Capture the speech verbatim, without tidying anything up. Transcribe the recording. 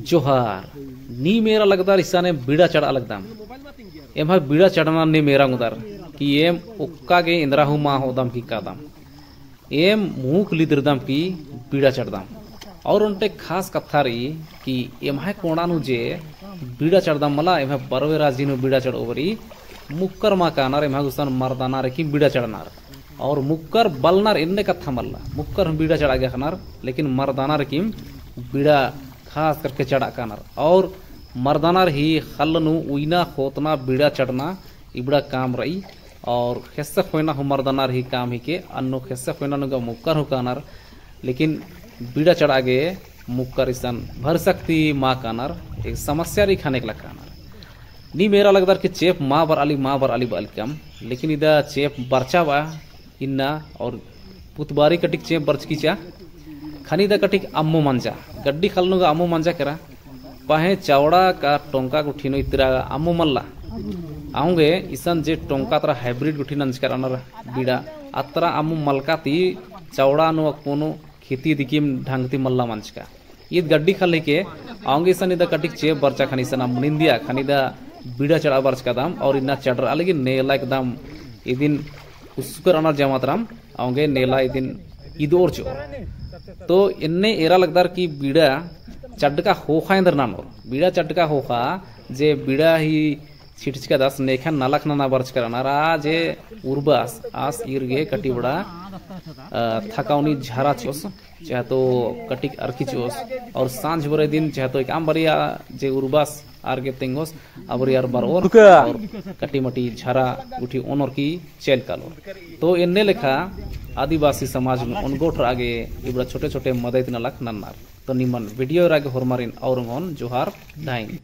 जोहार। नीम एरा लगदर इसाने बीड़ा चढ़आ लगदम। एम्है बीड़ा चढ़ना नीम एरा ओंगदर कि एम ओक्का गे एन्दरा हूँ मा होदम की कादम। एम मुख लिदरदम की बीड़ा चढ़दम। और ओन्टे खास कत्था रई कि एम्है कोंड़ा नू जे बीड़ा चढ़दम मला, एम्है बरवे राजी नू बीड़ा चढ़ओ बारी मुक्कर मा कानर, एम्है गुसन मर्दाना रई कि बीड़ा चढ़नर। और मुक्कर बलनर एन्ने कत्था मल्ला, मुक्कर हूँ बीड़ा चढ़आ गे अख़नर, लेकिन मर्दाना रई कि बीड़ा खास करके चढ़आ कानर। और मर्दाना रई ख़ल्ल नू उइना, ख़ोतना, बीड़ा चढ़ना इबड़ा काम रई। और ख़ेस्स ख़ोयना हूँ मर्दाना रई काम हिके, अन्नु ख़ेस्स ख़ोयना नू गा मुक्कर हूँ कानर, लेकिन बीड़ा चढ़आ गे मुक्कर इसन भरसक ती मा कानर, एक समस्या रई ख़ने एकला कानर। नीम एरा लगदर कि चेंप मा बरआली, मा बरआली बअलकम, लेकिन इदा चेंप बरचा बआ इन्ना। और पुतबारी कटिक चेंप बरचकी चा, ख़ने इदा कटिक अम्मु मंजा, गड्डी ख़ल्ल नू गा अम्मु मंजा केरा। पहें चौड़ा का टोंका गुट्ठी नू इतरा अम्मु मल्ला। औंगे इसन जे टोंका तरा hybrid गुट्ठी नंजकर रअनर बीड़ा, अतरा अम्मु मलका ती चौड़ा नू अक्कुनु खेती दिकिम ढंग ती मल्ला मंजका। ईद गड्डी ख़ल्ल हिके, औंगे इसन इदा कटिक चेंप बरचा ख़ने इसन अम्मु निंदिया, ख़ने इदा बीड़ा चढ़आ बरचकदम। और इन्ना चढ़रआ लगी नेला एकदम इदिन उसकर रअनर जमा तरम, औंगे नेला इदिन इदोर चिओर। तो एन्ने एरा लगदर कि बीड़ा चड्डका ख़ोख़ा एन्देर ननोर। बीड़ा चड्डका ख़ोख़ा जे बीड़ा ही छिटचकादस नेखन नलख नना बरचकर रअनर, आ जे उर्बस आस ईर गे कटिबड़ा, अ, थकाउनी झरा चिओस, चाहे तो कटिक अरखी चिओस, और सांझ बरे दिन चाहे तो एकअम बरिया जे उर्बस आर गे तेंगोस, आ बरिया आर बरओर, और कटी मटी झरा गुट्ठी ओनोर की चेल कालोर। तो एन्ने लेखा आदिवासी समाज नू ओनगोट रआ गे इबड़ा छोटे छोटे मदइत नलख नन्नर। तो निमन video एरा गे होरमारिन और ओंगोन जोहार धाइन।